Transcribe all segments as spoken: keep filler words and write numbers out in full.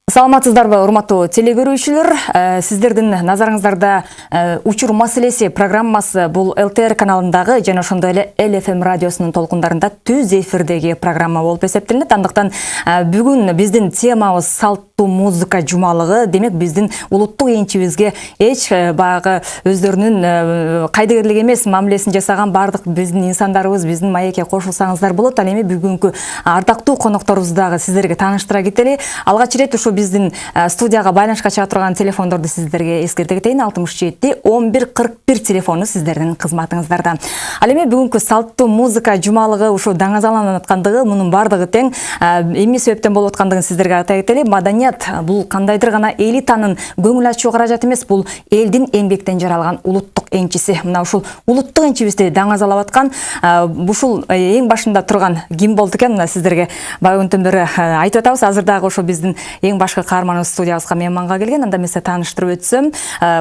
Саламатсыздарбы, урматтуу телекөрүүчүлөр. Сиздердин назарыңыздарда учур маселеси программасы бул эл тэ эр каналындагы жана ошондой эле эл эф эм радиосунун толкундарында түз эфирдеги программа болуп эсептелет. Андыктан бүгүн биздин темабыз салттуу музыка жумалыгы. Демек биздин улуттук энчибизге эч баягы өздөрүнүн кайдыгерлик эмес мамилесин жасаган бардык биздин инсандарыбыз биздин маекке кошулсаңыздар болот. Ал эми бүгүнкү ардактуу конокторубузду дагы сиздерге тааныштыра кетели. Алгач ирет ушу биздин студияга байланышка чыга турган телефондорду сиздерге эскерте кетейин. алтымыш жети он бир кырк бир телефону сиздердин кызматыңыздарда. Ал эми бүгүнкү салттуу музыка жумалыгы ушу даңазаланып аткандыгы, мунун бардыгы тең эмне себептен болуп аткандыгын сиздерге айта кетели. Маданият бул кандайдыр гана элитанын көңүл ачуу каражаты эмес, бул элдин эмгектен жаралган улуттук энчиси. Мына ушул улуттук энчибизди даңазалап аткан ушул эң башында турган ким болду экен? Мына сиздерге баягынтен бери айтып атабыз. Азыр дагы ошо биздин эң башкы каарманыбыз студиябызга мейманга келген. Анда эмесе тааныштырып өтсөм,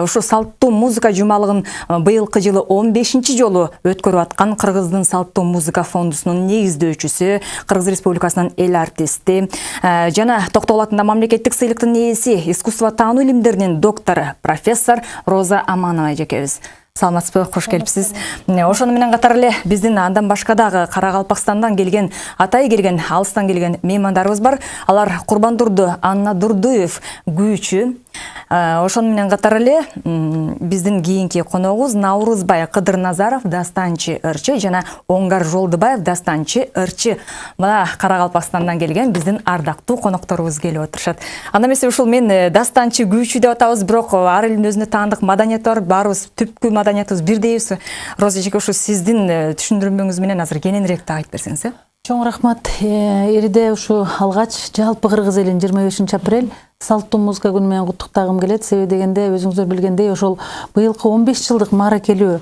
ушу салттуу музыка жумалыгын быйылкы жылы он бешинчи жолу өткөрүп аткан Кыргыздын салттуу музыка фондусунун негиздөөчүсү, Кыргыз Республикасынын эл артисти жана Токтогул атындагы мамлекеттик сыйлыктын ээси, искусство таануу илимдеринин доктору, профессор Роза Аманова эжекебиз. Саламатсызбы, кош келипсиз. Ошону менен катар эле биздин андан башка дагы Каракалпакстандан келген, Атай келген, алыстан келген меймандарыбыз бар. Алар Курбандурду Анна Дурдуев күүчү. Ошону менен катар эле биздин кийинки коногубуз Наурузбай Кыдырназаров, дастанчы ырчы жана Оңгар Жолдубаев, дастанчы ырчы. Мына Каракалпакстандан келген биздин ардактуу конокторубуз келип отурушат. Анда эмесе ушул мен дастанчы күүчү деп атабыз, бирок ар элдин өзүнө таандык маданияты бар, баарыбыз түпкү маданиятыбыз бирдейбиз. Роза эжеке, ушу сиздин түшүндүрмөңүз менен азыр кененирээк да айтып берсеңиз, э? Чоң рахмат. Эриде ушу алгач жалпы кыргыз элин жыйырма бешинчи апрель салттуу музыка күнү менен куттуктагым келет. Себеби дегенде өзүңүздөр билгендей, ошол быйылкы он беш жылдык мааракелүү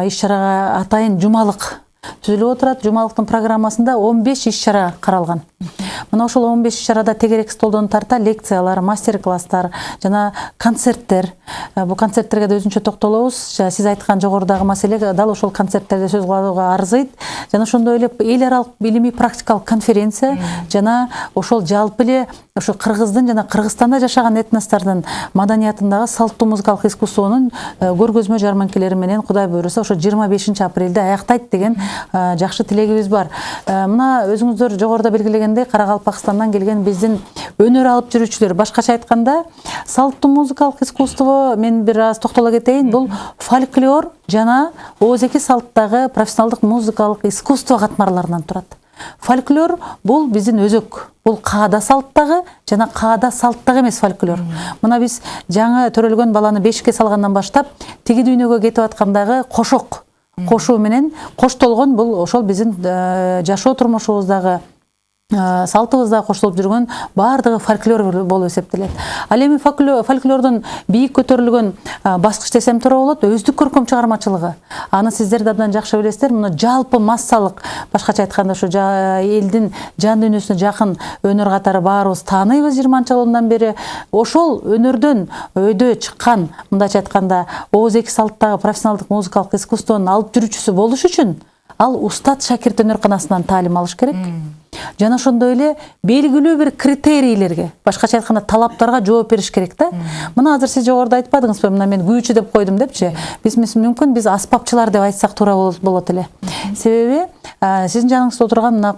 иш-чарага атайын жумалык түзүлүп отурат. Жумалыктын программасында он беш иш-чара каралган. Мына ошол он беш иш-чарада тегерек столдон тарта лекциялар, мастер-класстар жана концерттер. Бул концерттерге да өзүнчө токтолобуз. Сиз айткан жогорудагы маселе дал ошол концерттерде сөз кылууга арзыйт. Жана ошондой эле эл аралык илимий практикалык конференция жана ошол жалпы эле ошо Кыргыздын жана Кыргызстанда жашаган этностордун маданиятындагы салттуу музыкалык искусствонун көргөзмө жарманкелери менен Кудай буйруса ошо жыйырма бешинчи апрелде аяктайт деген жакшы тилегибиз бар. Мына өзүңүздөр жогоруда белгилегендей, Каракалпакстандан келген биздин өнөр алып жүрүүчүлөр, башкача айтканда, салттуу музыкалык искусство, мен бир аз токтоло кетейин, бул фольклор жана ооз-эки салттагы профессионалдык музыкалык искусство катмарларынан турат. Фольклор бул биздин өзөк, бул каада салттагы жана каада салттагы эмес фольклор. Мына биз жаңы төрөлгөн баланы бешикке салгандан баштап тиги дүйнөгө кетип аткандагы кошок, кошуу менен коштолгон, бул ошол биздин жашоо турмушубуздагы салтыбызда коштолуп жүргөн баардыгы фольклор болуп эсептелет. Ал эми фольклордун бийик көтөрүлгөн баскыч десем туура болот, өздүк көркөм чыгармачылыгы. Аны сиздер да абдан жакшы билесиздер. Муну жалпы массалык, башкача айтканда, ушу элдин жан дүйнөсүнө жакын өнөр катары баарыбыз тааныйбыз жыйырманчы жылдан бери. Ошол өнөрдөн өйдө чыккан, мындайча айтканда, ооз-эки салттагы профессионалдык музыкалык искусствонун алып жүрүүчүсү болуш үчүн ал устат шакирт өнөрканасынан таалим алыш керек. Жана ошондой эле белгилүү бир критерийлерге, башкача айтканда талаптарга жооп бериш керек да. Мына азыр сиз жогоруда айтпадыңызбы, мына мен күүчү деп койдум депчи. Биз мүмкүн биз аспапчылар деп айтсак туура болот эле. Себеби сиздин жаныңызда отурган мына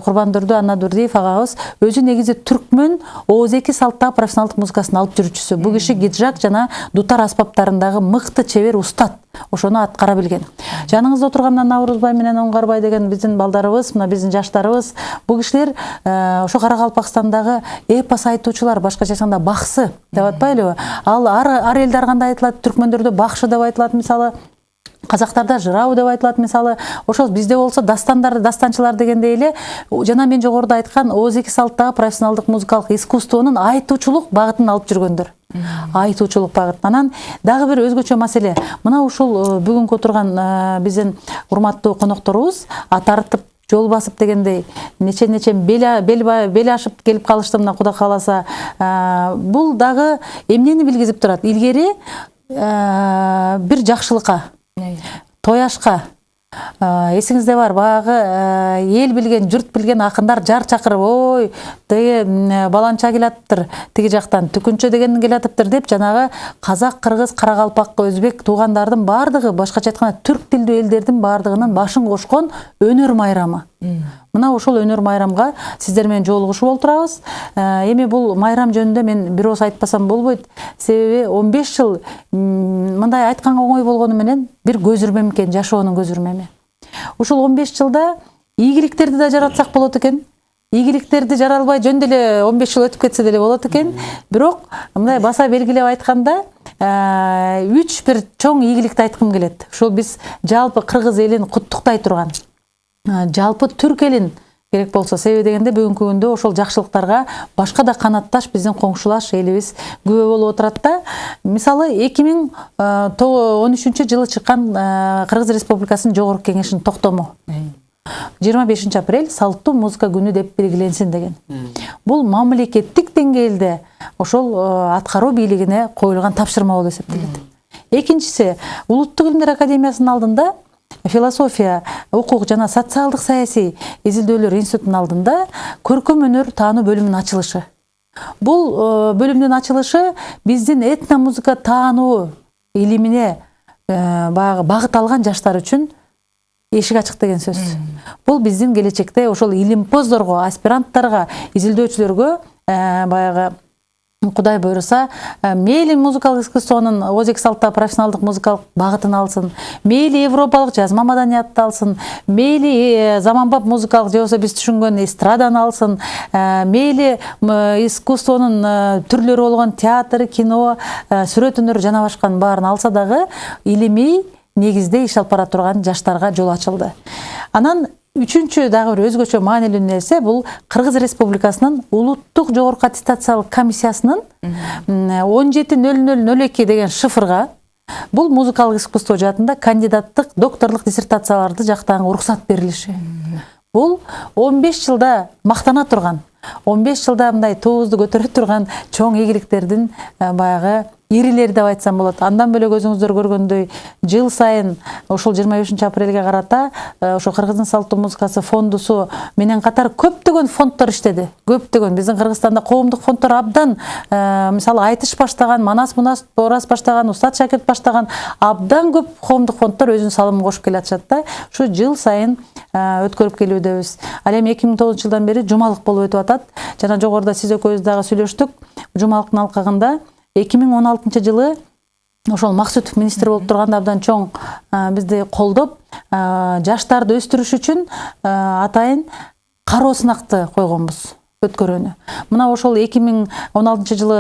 Курбандурду Анна Дурдуев агабыз өзү негизи түркмөн ооз-эки салттагы профессионалдык музыкасын алып жүрүүчүсү. Бул киши гиджак жана дутар аспаптарындагы мыкты чебер устат. Ошону аткара билген. Жаныңызда отурган Наурузбай менен Оңгарбай деген биздин балдарыбыз, мына биздин жаштарыбыз, бул кишилер ошо Каракалпакстандагы эпос айтуучулар, башкача айтканда баксы деп атпайлыбы? Ал ар элде ар кандай айтылат, түркмөндөрдө бакшы деп айтылат, мисалы. Казактарда жырау деп айтылат, мисалы. Ошол бизде болсо дастандар, дастанчылар дегендей эле, жана мен жогоруда айткан ооз-эки салттагы профессионалдык музыкалык искусствонун айтуучулук багытын алып жүргөндөр. Айтуучулук багыт. Анан дагы бир өзгөчө маселе. Мына ушул бүгүнкү отурган биздин урматтуу конокторубуз тартып жол басып дегендей нече-нече бел ашып келип калышты, мына Кудай кааласа. Бул дагы эмнени билгизип турат? Илгери бир жакшылыкка, тояшка Эсиңизде бар, баягы эл билген, журт билген акындар жар чакырып, ой, деге баланча келатыптыр, тиги жактан түкүнчө деген келатыптыр деп, жанагы казак, кыргыз, каракалпак, өзбек туугандардын бардыгы, башкача айтканда түрк тилдүү элдердин бардыгынын башын кошкон өнөр майрамы. Мына ошол өнөр майрамга сиздер менен жолугушуп олтурабыз. Эми бул майрам жөнүндө мен бир ооз айтпасам болбойт. Себеби он беш жыл мындай айтканга оңой болгону менен бир көзүрмөм экен, жашоонун көзүрмөмү. Ушул он беш жылда ийгиликтерди да жаратсак болот экен. Ийгиликтерди жара албай жөн деле он беш жыл өтүп кетсе деле болот экен. Бирок мындай баса белгилеп айтканда үч бир чоң ийгиликти айткым келет. Ушул биз жалпы кыргыз элин куттуктай турган, жалпы түрк элин керек болсо, себеби дегенде бүгүнкү күндө ошол жакшылыктарга башка да канатташ биздин коңшулаш элибиз күбө болуп отурат да. Мисалы эки миң он үчүнчү жылы чыккан Кыргыз Республикасынын Жогорку Кеңешинин токтому жыйырма бешинчи апрель салттуу музыка күнү деп белгиленсин деген. Бул мамлекеттик деңгээлде ошол аткаруу бийлигине коюлган тапшырма болуп эсептелет. Экинчиси, Улуттук илимдер академиясынын алдында философия, укук жана социалдык саясий изилдөөлөр институтунун алдында көркөм өнөр таануу бөлүмүнүн ачылышы. Бул бөлүмдүн ачылышы биздин этномузыка таануу илимине баягы багыт алган жаштар үчүн эшик ачык деген сөз. Бул биздин келечекте ошол илимпоздорго, аспиранттарга, изилдөөчүлөргө баягы Кудай буйруса, мейли музыкалык искусствонун озек салттагы профессионалдык музыкалык багытын алсын, мейли европалык жазма маданиятты алсын, мейли заманбап музыкалык же болбосо биз түшүнгөн эстраданы алсын, мейли искусствонун түрлөрү болгон театр, кино, сүрөт өнөр жана башканын баарын алса дагы илимий негизде иш алып бара турган жаштарга жол ачылды. Анан үчүнчү дагы бир өзгөчө маанилүү нерсе бул Кыргыз Республикасынын Улуттук жогорку аттестациялык комиссиясынын он жети нөл нөл нөл эки деген шифрга бул музыкалык искусство жаатында кандидаттык, докторлук диссертацияларды жактаганга уруксат берилиши. Бул он беш жылда мактана турган, он беш жылда мындай туубузду көтөрө турган чоң ийгиликтердин баягы ирилери деп айтсам болот. Андан бөлөк өзүңүздөр көргөндөй жыл сайын ошол жыйырма бешинчи апрелге карата ошо Кыргыздын салттуу музыкасы фондусу менен катар көптөгөн фонддор иштеди. Көптөгөн биздин Кыргызстанда коомдук фонддор абдан, мисалы Айтыш баштаган, Манас Мунас Орас баштаган, Устат Шакирт баштаган абдан көп коомдук фонддор өзүнүн салымын кошуп келатышат да. Ушу жыл сайын өткөрүп келүүдөбүз. Ал эми эки миң тогузунчу жылдан бери жумалык болуп өтүп атат. Жана жогоруда сиз экөөбүз дагы сүйлөштүк. Жумалыктын алкагында эки миң он алтынчы жылы ошол Максутов министр болуп турганда абдан чоң бизди колдоп, жаштарды өстүрүш үчүн атайын кароо сынакты койгонбуз өткөрүүнү. Мына ошол эки миң он алтынчы жылы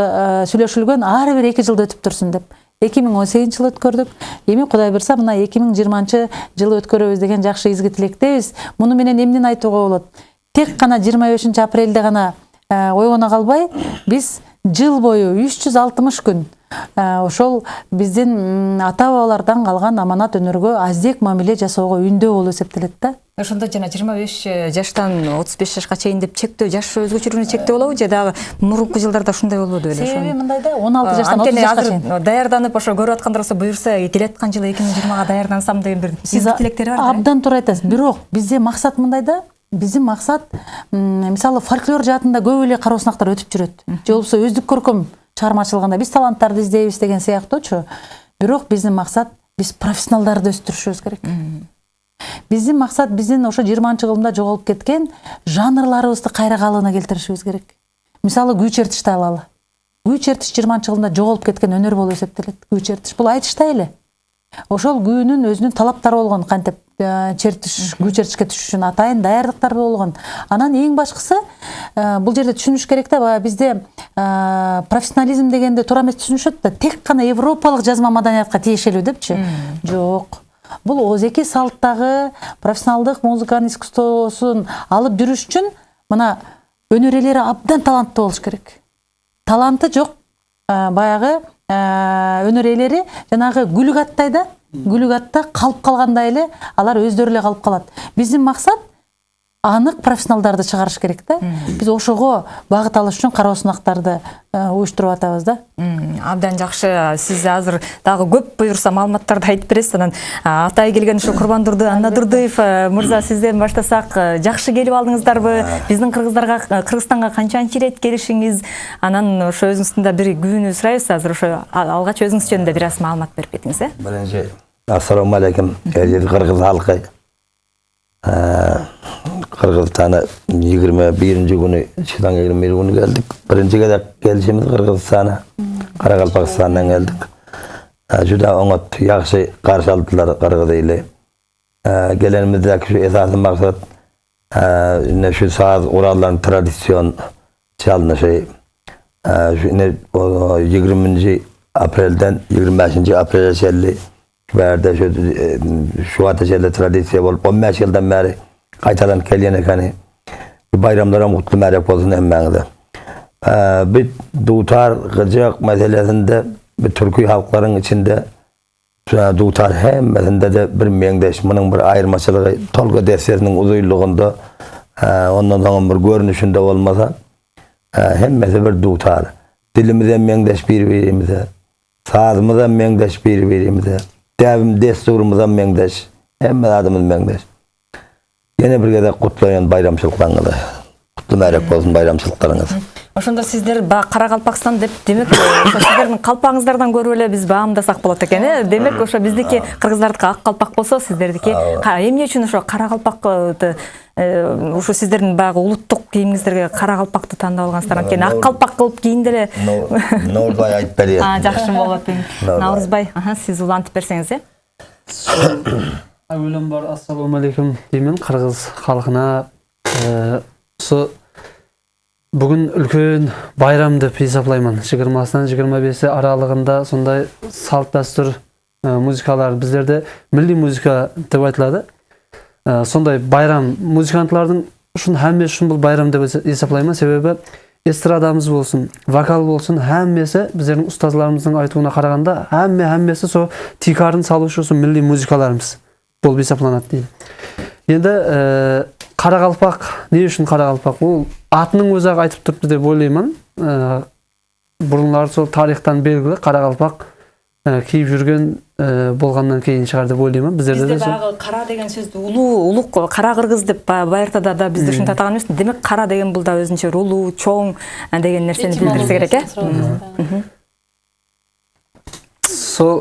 сүйлөшүлгөн ар бир эки жылда өтүп турсун деп. эки миң он сегизинчи жылы өткөрдүк. Эми Кудай буйруса мына эки миң жыйырманчы жылы өткөрөбүз деген жакшы изги тилектебиз. Муну менен эмнени айтууга болот? Тек гана жыйырма бешинчи апрелде гана ойгоно калбай, биз жыл бою үч жүз алтымыш күн ошол биздин ата бабалардан калган аманат өнөргө аздек мамиле жасоого үндөө болуп эсептелет да. Ошондо жана жыйырма беш жаштан отуз беш жашка чейин деп чектөө, жаш өзгөчөлүгүнө чектөө болобу же дагы мурунку жылдарда ушундай болбоду беле? Себеби мындай да, он алты жаштан отуз жашка чейин даярданып ошо көрүп аткандар болсо буйрса келаткан жылы эки миң жыйырмага даярдансам деген бир изги тилектери бар да. Абдан туура айтасыз. Бирок бизде максат мындай да. Биздин максат, мисалы фольклор жаатында көп эле кароо сынактар өтүп жүрөт. Же болбосо өздүк көркөм чыгармачылыгында биз таланттарды издейбиз деген сыяктуучу. Бирок биздин максат биз профессионалдарды өстүрүшүбүз керек. Биздин максат биздин ошо жыйырманчы кылымда жоголуп кеткен жанрларыбызды кайра калыбына келтиришибиз керек. Мисалы күү чертишти алалы. Күү чертиш жыйырманчы кылымда жоголуп кеткен өнөр болуп эсептелет. Күү чертиш бул айтыштай эле. Ошол күүнүн өзүнүн талаптары болгон, кантип чертиш, күү чертишке түшүш үчүн атайын даярдыктар болгон. Анан эң башкысы бул жерде түшүнүш керек да, баягы бизде профессионализм дегенде туура эмес түшүнүшөт да, тек гана европалык жазма маданиятка тиешелүү депчи. Жок. Бул озеки салттагы профессионалдык музыканын искусствосун алып жүрүш үчүн мына өнөр ээлери абдан таланттуу болуш керек. Таланты жок баягы өнөр ээлери жанагы гүлүк аттай да, гүлүк атта калып калгандай эле алар өздөрү эле калып калат. Биздин максат анык профессионалдарды чыгарыш керек да. Биз ошого багыт алыш үчүн кароо сынактарды уюштуруп атабыз да. Абдан жакшы. Сиз азыр дагы көп буюрса маалыматтарды айтып бересиз. Анан атай келген ушу Курбандурду Анна Дурдуев мырза, сизден баштасак, жакшы келип алдыңыздарбы? Биздин кыргыздарга, Кыргызстанга канчанчы ирет келишиңиз? Анан ошо өзүңүздүн да бир күбүнү сурайбыз. Азыр ошо алгач өзүңүз жөнүндө бир аз маалымат берип кетиңиз, э? Биринчи ассаламу алейкум, эрдик кыргыз халкы. Кыргызстана yigirme birinci günü, çıdan yigirme bir günü geldik. Birinci kez gelişimiz Kırgızstan'a, Karaqalpaqstan'dan geldik. Juda oňat yaxşı karşı aldılar Kırgız ile. Gelenimizdeki şu esaslı maksat, ne şu saz uralların tradisyon çalışı. Şu yigirminci April'den yigirme beşinci April'e şelli verdi şu şu ateşeli tradisiyon olup on beş yıldan beri kaytadan kelyen ekani bayramlara mutlu merek olsun emmağıda. Bir dutar gıcık meselesinde bir Türkiye halkların içinde dutar hemmesinde de bir mengdeş, bunun bir ayırmaçılığı Tolga derslerinin uzuyluğunda ondan sonra bir görünüşünde olmasa hemmesi bir dutar. Dilimize mengdeş birbirimize, sazımıza mengdeş birbirimize, devim desturumuza mengdeş, hemmesi adımız mengdeş. Yine bir kez kutlayan bayramçılıklarınızı, kutlu merek olsun bayramçılıklarınız. Ошондо сиздер Каракалпакстан деп, демек, ошо сиздердин калпагыңыздардан көрүп эле биз баамдасак болот экен, э? Демек, ошо биздики кыргыздардыкы ак калпак болсо, сиздердики эмне үчүн ошо кара калпакты, ошо сиздердин баягы улуттук кийимиңиздерге кара калпакты тандап алгансыздар, анткени ак калпак кылып кийинде эле. Наурызбай айтып берет. Жакшы болот. Наурызбай, сиз улантып берсеңиз, э? Авелен бар, ассаламу алейкум деймин кыргыз халкына. Со бүгүн үлкөн байрам деп эсептеймин. жыйырмасынан жыйырма беши аралыгында сондай салт дастур музыкалар биздерде милли музыка деп айтылады. Сондай байрам музыкантлардын ушун хаммеси ушун бул байрам деп эсептеймин. Себеби эстрадамыз болсун, вокал болсун, хаммеси биздердин устазларыбыздын айтууна караганда хамме хаммеси со тикарын салуучусу милли музыкаларыбыз болуп эсептелет дейм. Енді кара калпак, не үчүн кара калпак? Бул атынын өзү ак айтып турду деп ойлоймун. Бурунлар сол тарихтан белгилүү кара калпак кийип жүргөн болгондон кийин чыгар деп ойлоймун. Биздерде бизде баягы кара деген сөздү улуу, улук, кара кыргыз деп байыртада да бизде ушинтип атаган эмес. Демек кара деген бул да өзүнчө улуу, чоң деген нерсени билдирсе керек, э? Сол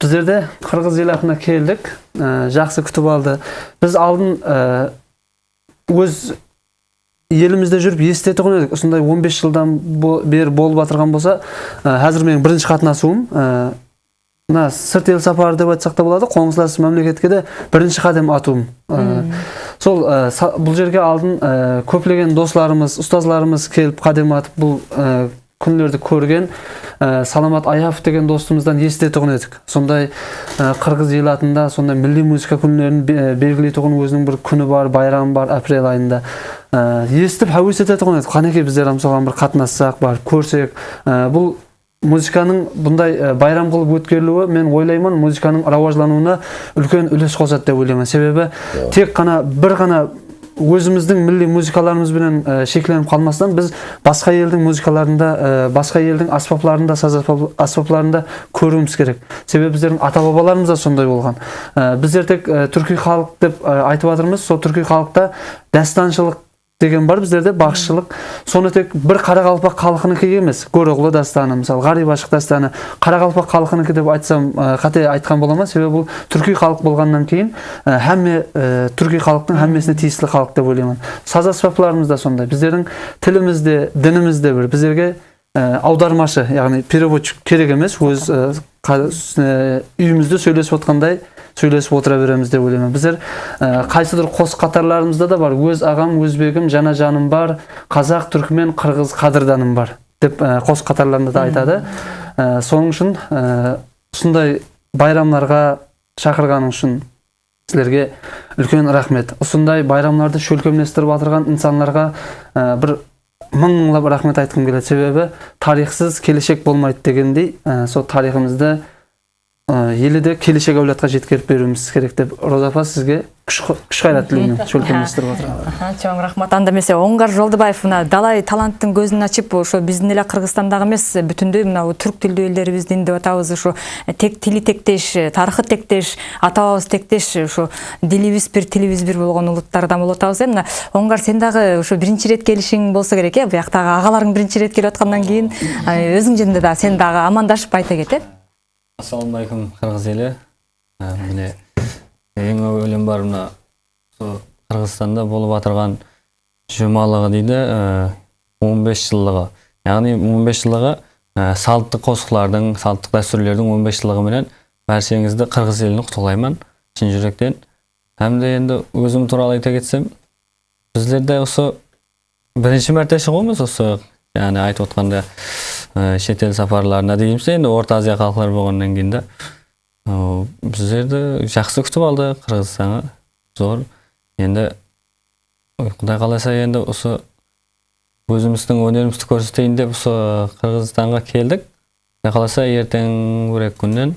биздерде кыргыз элатына келдик, жакшы күтүп алды. Биз алдын өз элимизде жүрүп эстетип койдук. Ушундай он беш жылдан бери болуп атырган болсо, азыр менин биринчи катнашуум мына сырт эл сапары деп айтсак да болот. Коңсулас мамлекетке де биринчи кадам атуум. Сол бул жерге алдын көплөгөн досторубуз, устазларыбыз келип кадам атып бул күнлөрдү көргөн Саламат Аяпов деген достумуздан эстетип койдук. Сондай кыргыз элатында сондай милли музыка күнлөрүн белгилей турган өзүнүн бир күнү бар, байрамы бар, апрель айында. Эстип хавыс этип койдук. Канеки биздер мисалга бир катнассак, бар, көрсөк, бул музыканын мындай байрам кылып өткөрүлүшү мен ойлоймун музыканын раважланууна үлкөн үлөс кошот деп ойлоймун. Себеби тек гана бир гана өзүмүздүн милли музыкаларыбыз менен шектелип калмастан биз башка элдин музыкаларында, башка элдин аспапларында, саз аспапларында көрүүбүз керек. Себеби биздердин ата-бабаларыбыз да сондай болгон. Биздер тек түркүй халык деп айтып атырмыз. Сол түркүй халыкта дастанчылык деген бар биздерде, багышчылык. Сону тек бир кара калпак халкыныкы эмес. Көроглу дастаны, мисалы Гарип Ашык дастаны кара калпак халкыныкы деп айтсам, кате айткан болом. Себеби бул түркүй халык болгондон кийин хамме түркүй халыктын хаммесине тийиштүү халык деп ойлоймун. Саз аспапларыбыз да сондай. Биздердин тилимизде, динimizde бир бизерге аудармашы, ягни переводчик керек эмес. Өз үйүмүздө сүйлөшүп аткандай сүйлөшүп отура беребиз деп ойлоймун. Биздер кайсыдыр кос катарларыбызда да бар. Өз агам, өзбегим, жана жаным бар, казак, түркмен, кыргыз кадырданым бар деп кос катарларында да айтады. Сонун үчүн ушундай байрамдарга чакырганың үчүн силерге үлкөн рахмет. Ушундай байрамдарды шөлкөмдөштүрүп атырган инсандарга бир мыңлап рахмет айткым келет. Себеби тарихсыз келечек болмойт дегендей, сол тарихымызды елде келешек авлатка жеткирип берүүбүз керек деп Роза апа сизге күч кайрат тилейм. Чөлкөмүстүрүп отурам. Чоң рахмат. Анда эмесе Оңгар Жолдубаев мына далай таланттын көзүн ачып, ошо биздин эле Кыргызстандагы эмес, бүтүндөй мына түрк тилдүү элдерибиздин деп атабыз, ошо тек тили тектеш, тарыхы тектеш, ата бабабыз тектеш, ошо дилибиз бир, тилибиз бир болгон улуттардан болуп атабыз. Мына Оңгар, сен дагы ошо биринчи ирет келишиң болсо керек, э? Бияктагы агаларың биринчи ирет келип аткандан кийин өзүң жөнүндө да сен дагы амандашып айта кет, э? Ассаламу алейкум, кыргыз эли. Міне эң өлем бар мына Кыргызстанда болуп атырган жумалыгы дейди, он беш жылдыгы. Яғни он беш жылдыгы салттык косуклардын, салттык дәстүрлөрдүн он беш жылдыгы менен барчаңызды кыргыз элин куттуктайм чын жүрөктөн. Hamda endi өзүм тууралуу айта кетсем, bizlerde ошо биринчи мәрте чыгуубуз, ошо яғни айтып атканда чет эл сапарларына деймиз, эndi Орто Азия калкалары болгондон кийин да bizlerdi жакшы күтүп алды Кыргызстанга. Зор. Endi Кудай кааласа endi ошо өзүбүздүн өнөрүбүздү көрсөтөйүн деп ошо Кыргызстанга келдик. Кудай кааласа эртең бир эки күндөн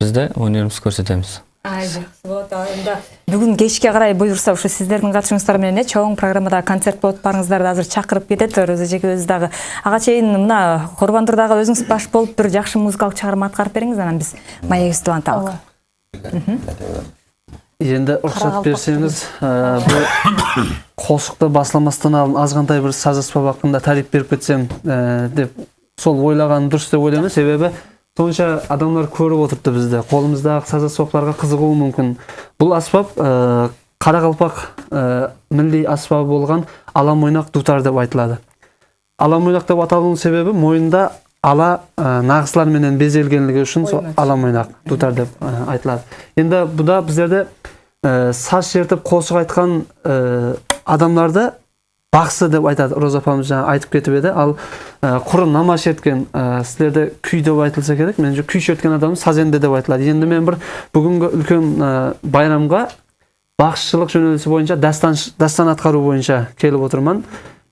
бизде өнөрүбүздү көрсөтөбүз. Ай, жакшы болот. Эndi бүгүн кечке карай буюрса ошо сиздердин катышыңыздар менен чоң программада концерт болуп барыңыздарды азыр чакырып кетет. Роза эжекебиз дагы ага чейин мына Курбандурдагы өзүңүз баш болуп бир жакшы музыкалык чыгарма аткарып бериңиз, анан биз маегибизди улантабыз. Енді уруксат берсеңиз, бул кошукта басламастан алып азгандай бир саз аспап акында тариф берип кетсем деп сол ойлаганым дурус деп ойлойм. Себеби сонча адамдар көрүп отурду бизде. Колумуздагы саз аспаптарга кызыгуу мүмкүн. Бул аспап Кара Калпак милли аспабы болгон ала мойнак дутар деп айтылады. Ала мойнак деп аталуунун себеби моюнда ала нагызлар менен безелгенлиги үчүн ала мойнак дутар деп айтылат. Енді буда біздерде саз чертип кошук айткан адамдарды баксы деп айтат. Роза апамыз жаңа айтып кетип эди. Ал куру нама черткен, силерде күй деп айтылса керек. Менимче күй черткен адам сазенде деп айтылат. Енді мен бір бүгүнкү үлкөн байрамга бакчылык жөнөлтүсү боюнча дастан дастан аткаруу боюнча келип отурман.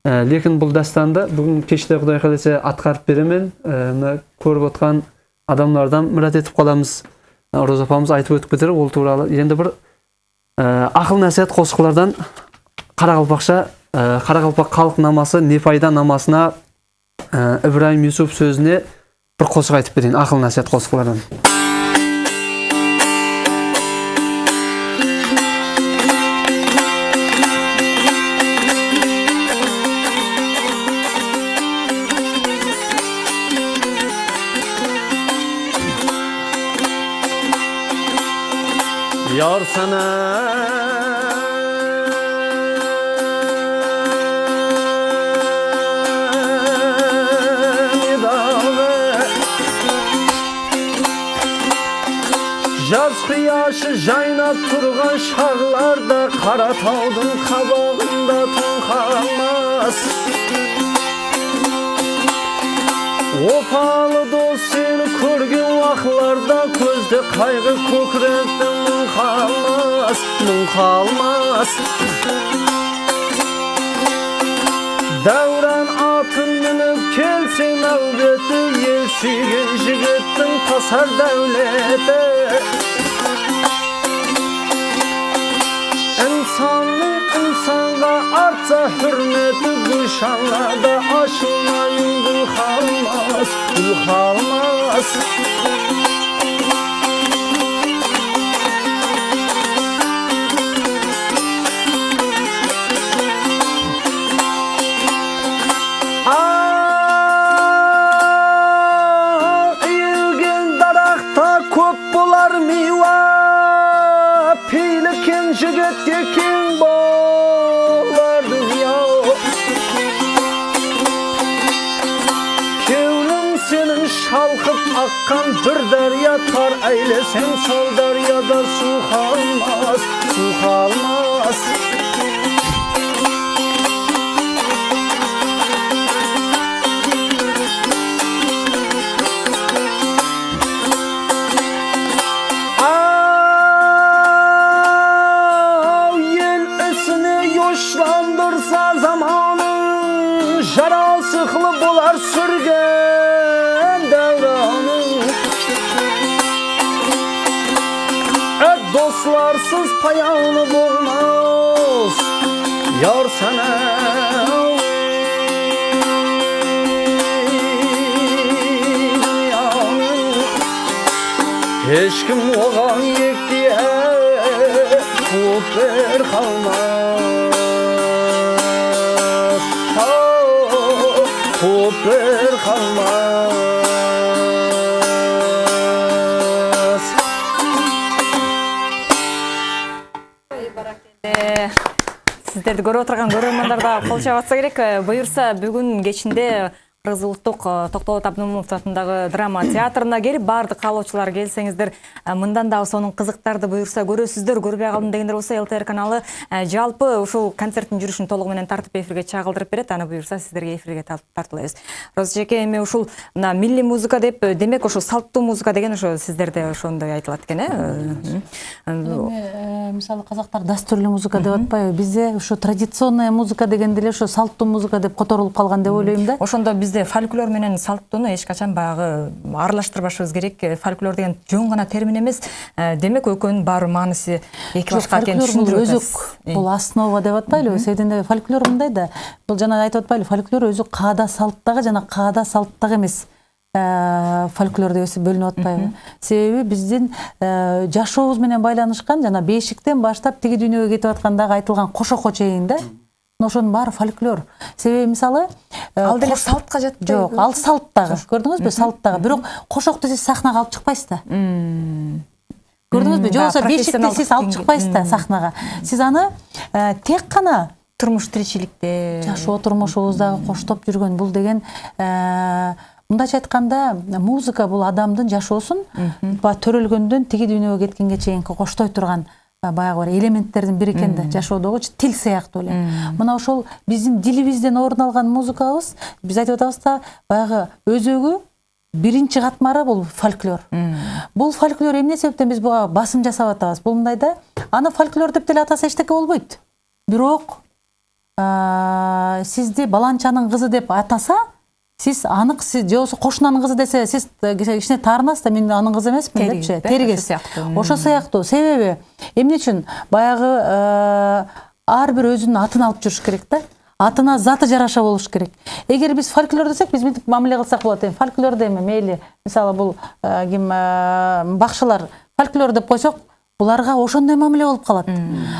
Лекин бул дастанды бүгүн кечте Кудай кааласа аткарып беремен. Мына көрүп аткан адамдардан мурат этип калабыз. Роза апамыз айтып өтүп кетер ол тууралуу. Енді бір акыл насаат кошуклардан Кара Калпакча, Кара Калпак калк намасы Нефайда намасына Ибраим Юсуп сөзүнө бір кошук айтып берейин, акыл насаат кошуклардан. Yar sana nidağı Yaz kıyaşı jaynap turgan şağlarda Kara taudun kabağında tonkalmaz Opalı dost seni körgün vaklarda Közde kaygı kökrekten mün kalmaz, mün kalmaz Davran atın minip kelsin avbeti Yelsigen jigittin tasar devleti İnsanlık insanga artsa hürmeti Gülşanlarda aşılmayın gül kalmaz, gül kalmaz Akkan bir derya tar eylesen sol deryada su kalmaz, su kalmaz Av yel üstüne yoşlandırsa zamanı Jara sıklı bular sürgen devranı Dostlarsız payanlı bulmaz yar sana. Hiç kim oğan yek diye kuper kalmaz. Kuper kalmaz. Сиздерди көрүп отурган көрөрмандар да кол чабатса керек. Буюрса бүгүн кечинде Кыргыз улуттук Токтогул Абдымомунов атындагы драма театрына келип, баардык каалоочулар келсеңиздер, мындан да сонун кызыктарды буюрса көрөсүздөр, көрбөй калдым дегендер болсо эл тэ эр каналы жалпы ушул концерттин жүрүшүн толугу менен тартып эфирге чагылдырып берет. Аны буюрса сиздерге эфирге тартуулайбыз. Роза эжеке, эми ушул мына милли музыка деп, демек ошо салттуу музыка деген ошо сиздерде ошондой айтылат экен, э? Эми мисалы казактар дастурлуу музыка деп атпайбы? Бизде ошо традиционная музыка дегенде эле ошо салттуу музыка деп которулуп калган деп ойлойм да. Ошондо бизде фольклор менен салттууну эч качан баягы аралаштырбашыбыз керек. Фольклор деген жөн гана термин эмес. Демек экөөнүн баары мааниси эки башка экенин түшүндүрүп атасыз. Бул основа деп атпайлыбы? Себебинде фольклор мындай да. Бул жана айтып атпайлы, фольклор өзү каада салттагы жана каада салттагы эмес. Фольклор деп бөлүнүп атпайбы? Себеби биздин жашообуз менен байланышкан, жана бешиктен баштап тиги дүйнөгө кетип аткандагы айтылган кошокко чейин да. Ошонун баары фольклор. Себеби мисалы ал деле салтка жатпайбы? Жок, ал салттагы. Көрдүңүзбү? Салттагы. Бирок кошокту сиз сахнага алып чыкпайсыз да. Көрдүңүзбү? Жоксо бешикти сиз алып чыкпайсыз да сахнага. Сиз аны тек гана турмуш тиричиликте, жашоо турмушубуздагы коштоп жүргөн бул деген, мындайча айтканда, музыка бул адамдын жашоосун төрөлгөндөн тиги дүйнөгө кеткенге чейинки коштой турган баягы бир элементтердин бири экен да, жашоодогу тил сыяктуу эле. Мына ошол биздин дилибизден орун алган музыкабыз, биз айтып атабыз да, баягы өзөгү биринчи катмары бул фольклор. Бул фольклор эмне себептен биз буга басым жасап атабыз? Бул мындай да, аны фольклор деп деле атаса эчтеке болбойт. Бирок сизди баланчанын кызы деп атаса, сиз анык, сиз же болбосо кошунанын кызы десе, сиз кичине таарынасыз да, мен анын кызы эмесмин депчи, теригиз. Ошо сыяктуу. Себеби эмне үчүн баягы ар бир өзүнүн атын алып жүрүш керек да. Атына заты жараша болуш керек. Эгер биз фольклор десек, биз мынтип мамиле кылсак болот. Эми фольклор деме, мейли, мисалы бул ким бакшылар фольклор деп койсок, буларга ошондой мамиле болуп калат.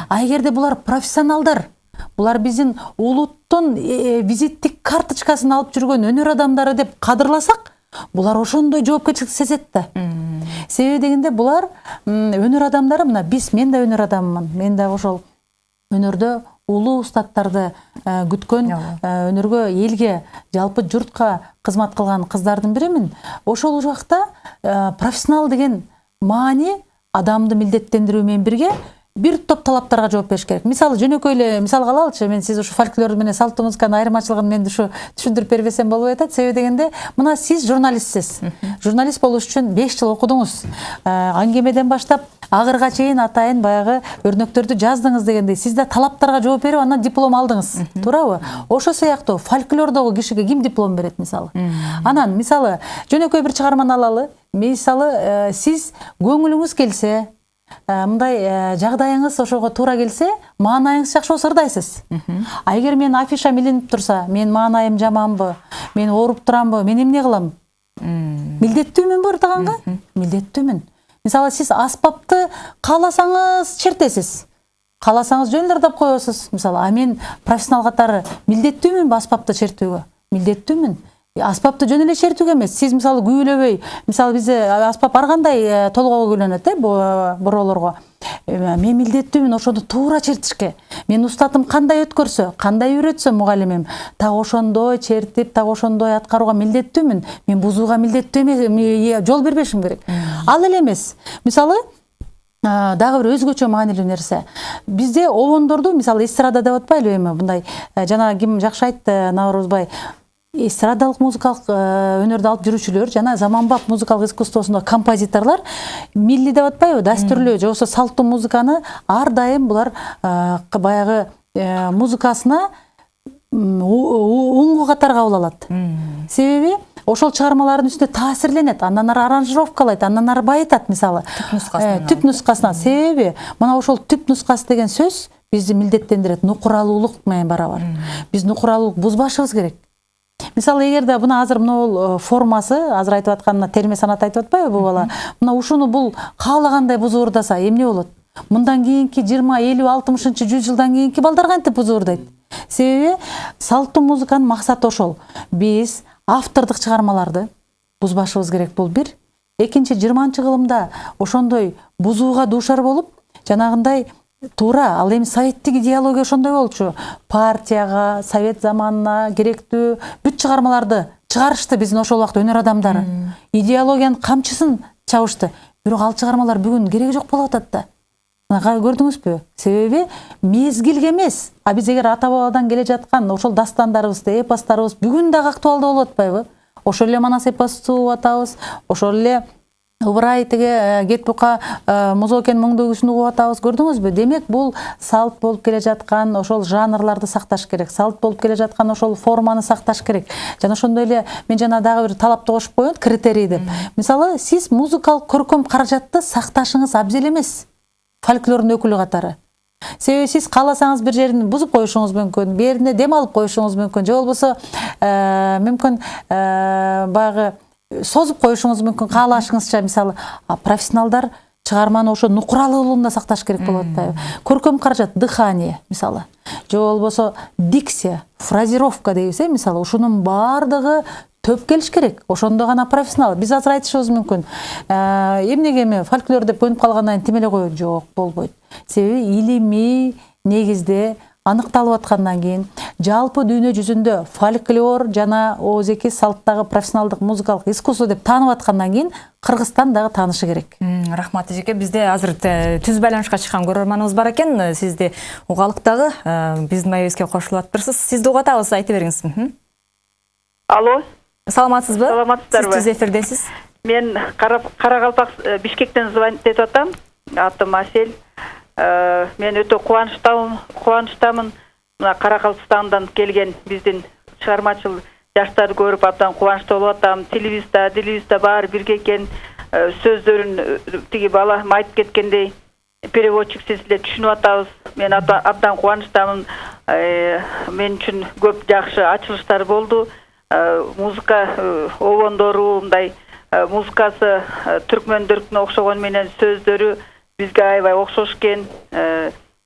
А эгерде булар профессионалдар, булар биздин улуттун визиттик карточкасын алып жүргөн өнөр адамдары деп кадырласак, булар ошондой жоопкерчиликти сезет да. Себеби дегенде булар өнөр адамдары, мына биз, мен да өнөр адаммын. Мен да ошол өнөрдө улуу устаттарды күткөн, өнөргө, элге, жалпы журтка кызмат кылган кыздардын биримин. Ошол убакта профессионал деген маани адамды милдеттендирүү менен бирге бир топ талаптарга жооп бериш керек. Мисалы жөнөкөй эле мисал алалычы, мен сиз ушу фольклор менен салттуу музыканын айырмачылыгын мен ушу түшүндүрүп бербесем болбой атат. Себеби дегенде, мына сиз журналистсиз. Журналист болуш үчүн беш жыл окудуңуз. Аңгемеден баштап агырга чейин атайын баягы өрнөктөрдү жаздыңыз дегендей, сиз да талаптарга жооп берип, андан диплом алдыңыз. Туурабы? Ошо сыяктуу фольклордогу кишиге ким диплом берет мисалы? Анан мисалы жөнөкөй бир чыгарманы алалы. Мисалы сиз көңүлүңүз келсе, мындай жагдайыңыз ошого туура келсе, маанайыңыз жакшы болсо ырдайсыз. А эгер мен афиша илинип турса, мен маанайым жаманбы, мен ооруп турамбы, мен эмне кылам? Милдеттүүмүн бу ырдаганга? Милдеттүүмүн. Мисалы сиз аспапты кааласаңыз чертесиз. Кааласаңыз жөн эле ырдап коесуз. Мисалы, а мен профессионал катары милдеттүүмүн аспапты чертүүгө? Милдеттүүмүн. Аспапты жөн эле чертүүгө эмес. Сиз мисалы күүлөбөй, мисалы бизде аспап ар кандай толгоого күүлөнөт, э, бороолорго. Мен милдеттүүмүн ошону туура чертишке. Мен устатым кандай өткөрсө, кандай үйрөтсө мугалимим, так ошондой чертип, так ошондой аткарууга милдеттүүмүн. Мен бузууга милдеттүү эмес, жол бербешим керек. Ал эле эмес. Мисалы дагы бир өзгөчө маанилүү нерсе. Бизде обондорду, мисалы эстрада деп атпайлыбы эми, мындай жана ким жакшы айтты, Наурузбай, эстрадалык музыкалык өнөрдү алып жүрүүчүлөр жана заманбап музыкалык искусствосунда композиторлор милли деп атпайбы, дастурлуу же болбосо салттуу музыканы ар дайым булар баягы музыкасына оңго катары кабыл алат. Себеби ошол чыгармалардын үстүнө таасирленет, андан ары аранжировкалайт, андан ары байытат мисалы. Түп нускасынан. Себеби мына ошол түп нускасы деген сөз бизди милдеттендирет, нукуралуулук менен барабар. Биз нукуралуулук бузбашыбыз керек. Мисалы, эгерде мына азыр мына формасы, азыр айтып аткан терме санат айтып атпайбы бул бала? Мына ушуну бул каалагандай бузуурдаса эмне болот? Мындан кийинки жыйырма, элүү, алтымышынчы жүз жылдан кийинки балдар кантип бузуурдайт? Себеби салттуу музыканын максаты ошол. Биз автордук чыгармаларды бузбашыбыз керек, бул бир. Экинчи, жыйырманчы кылымда ошондой бузууга дуушар болуп, жанагындай туура, ал эми советтик идеология ошондой болчу. Партияга, совет заманына керектүү бүт чыгармаларды чыгарышты биздин ошол убакта өнөр адамдары. Идеологиянын камчысын чабышты. Бирок ал чыгармалар бүгүн кереги жок болуп атат да. Көрдүңүзбү? Себеби мезгилге эмес. А биз эгер ата бабадан келе жаткан ошол дастандарыбызды, эпостарыбыз бүгүн дагы актуалдуу болуп атпайбы? Ошол эле Манас эпосту угуп атабыз, ошол эле Ыбырай тиги Кет бука Музокен моңду үгүсүн угуп атабыз, көрдүңүзбү? Демек, бул салт болуп келе жаткан ошол жанрларды сакташ керек, салт болуп келе жаткан ошол форманы сакташ керек. Жана ошондой эле мен жана дагы бир талапты кошуп коеюн, критерий деп. Мисалы, сиз музыкалык көркөм каражатты сакташыңыз абзел эмес. Фольклордун өкүлү катары. Себеби сиз кааласаңыз бир жерин бузуп коюшуңуз мүмкүн, бир жерине дем алып коюшуңуз мүмкүн, же болбосо мүмкүн баягы созуп коюшуңуз мүмкүн каалашыңызча. Мисалы, профессионалдар чыгарманы ошо нукуралуулугунда сакташ керек болот атпайбы? Көркөм каражат, дыхание мисалы, же болбосо дикция, фразировка дейбиз, мисалы, ушунун баардыгы төп келиш керек. Ошондо гана профессионал. Биз азыр айтышыбыз мүмкүн. Эмнеге эми фольклор деп көнүп калгандан кийин тим эле коет? Жок, болбойт. Себеби илимий негизде аныкталып аткандан кийин жалпы дүйнө жүзүндө фольклор жана оозеки салттагы профессионалдык музыкалык искусство деп таанып аткандан кийин Кыргызстан дагы таанышы керек. Рахмат эжеке. Бизде азыр түз байланышка чыккан көрөрманыбыз бар экен. Сизди угалык дагы биздин маегибизге кошулуп атыптырсыз. Сизди угуп атабыз, айта бериңиз. Алло. Саламатсызбы? Саламатсыздарбы? Сиз түз эфирдесиз. Мен Каракалпак Бишкектен звонить этип атам. Атым Асель. Мен өтө кубанычтамын, кубанычтамын. Мына Каракалпакстандан келген биздин чыгармачыл жаштарды көрүп абдан кубанычтуу болуп атам. Телевизда, телевизда баары бирге экен. Сөздөрүн тиги бала айтып кеткендей переводчик сиз эле түшүнүп атабыз. Мен абдан кубанычтамын. Мен үчүн көп жакшы ачылыштар болду. Музыка обондору, мындай музыкасы түркмөндөргө окшогон менен сөздөрү бизге аябай окшош экен.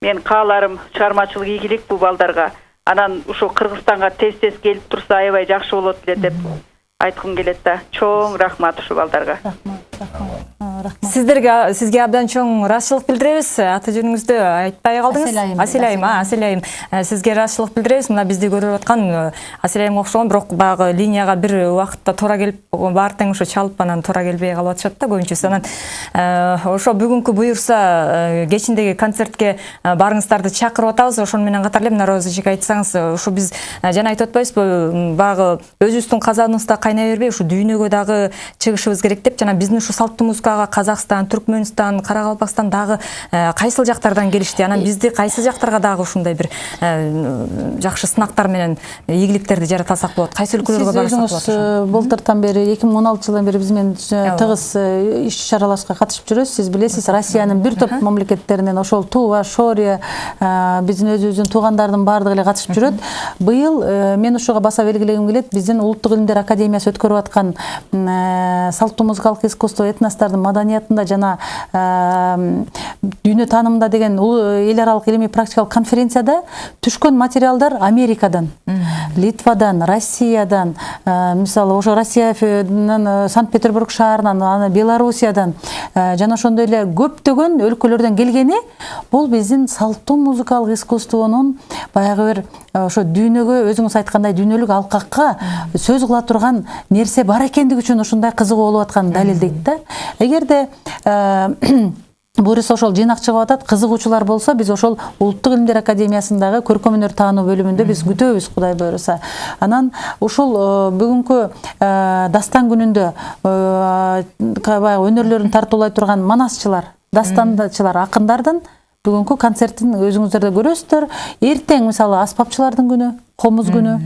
Мен кааларым чыгармачылык ийгилик бул балдарга. Анан ушу Кыргызстанга тез-тез келип турса аябай жакшы болот эле деп айткым келет да. Чоң рахмат ушу балдарга. Сиздерге, сизге абдан чоң ыраазычылык билдиребиз. Аты жөнүңүздү айтпай калдыңыз. Аселайым, Аселайым. Сизге ыраазычылык билдиребиз. Мына бизди көрүп аткан Аселайымга окшогон, бирок багы линияга бир убакытта туура келип, баары тең ошо чалып анан туура келбей калып атышат да көбүнчөсү. Анан ошо бүгүнкү буюрса кечиндеги концертке барыңыздарды чакырып атабыз. Ошону менен катар эле мына Роза эжеке айтсаңыз, ушу биз жана айтып атпайбызбы, багы өзүбүздүн казаныбызда кайнай бербей, ушу дүйнөгө дагы чыгышыбыз керек деп, жана биздин ушу салттуу музыкага Казакстан, Түркмөнстан, Каракалпакстан дагы кайсыл жактардан келишти. Анан бизди кайсы жактарга дагы ушундай бир жакшы сынактар менен ийгиликтерди жаратасак болот. Кайсы өлкөлөргө барсак болот? Сиз өзүңүз былтыртан бери эки миң он алтынчы жылдан бери биз менен тыгыз иш-чараларыбызга катышып жүрөсүз. Сиз билесиз, Россиянын бир топ мамлекеттеринен ошол Тува, Шория, биздин өзүбүздүн туугандардын баардыгы эле катышып жүрөт. Быйыл мен ушуга баса белгилегим келет. Биздин Улуттук илимдер академиясы өткөрүп аткан салттуу музыкалык искусство этностордун маданиятында жана дүйнө таанымында деген эл аралык илимий практикалык конференцияда түшкөн материалдар Америкадан, Литвадан, Россиядан, мисалы ошо Россиянын Санкт-Петербург шаарынан, Белоруссиядан жана ошондой эле көптөгөн өлкөлөрдөн келгени бул биздин салттуу музыкалык искусствонун баягы бир ошо дүйнөгө өзүңүз айткандай дүйнөлүк алкакка сөз кыла турган нерсе бар экендиги үчүн ушундай кызыгуу болуп атканын далилдейт да. Эгерде буюрса ошол жыйнак чыгып атат, кызыгуучулар болсо биз ошол Улуттук илимдер академиясындагы көркөм өнөр таануу бөлүмүндө биз күтөбүз, Кудай буюрса. Анан ушул бүгүнкү дастан күнүндө баягы өнөрлөрүн тартуулай турган манасчылар, дастанчылар, акындардын Бүгүнкү концерттин өзүңүздөр да көрөсүздөр. Эртең мисалы аспапчылардын күнү, комуз күнү,